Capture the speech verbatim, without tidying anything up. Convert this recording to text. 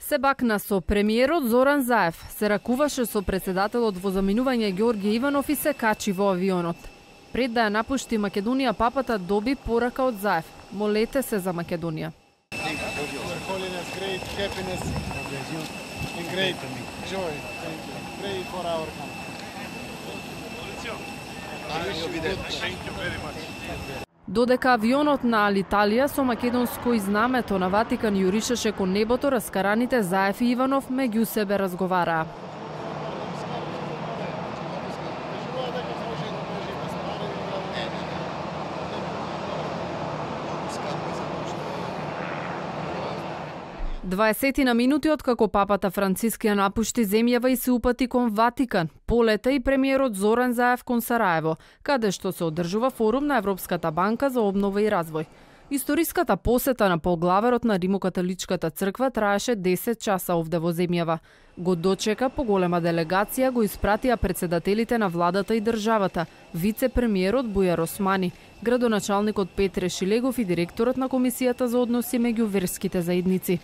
Се бакна со премиерот Зоран Заев, се ракуваше со председателот во заминување Ѓорѓе Иванов и се качи во авионот. Пред да ја напушти Македонија, папата доби порака од Заев. Молете се за Македонија. Додека авионот на Алиталија со македонско знамето на Ватикан јуришеше кон небото, раскараните Заев и Иванов меѓу себе разговараа. дваесетина минути откако папата Франциск ја напушти земјава и се упати кон Ватикан, полета и премиерот Зоран Заев кон Сараево, каде што се одржува форум на Европската банка за обнова и развој. Историската посета на поглаверот на Римокатоличката црква траеше десет часа овде во земјава. Го дочека поголема делегација, го испратија председателите на владата и државата, вице-премиерот Бујар Османи, градоначалникот Петре Шилегов и директорот на Комисијата за односи меѓу верските заедници.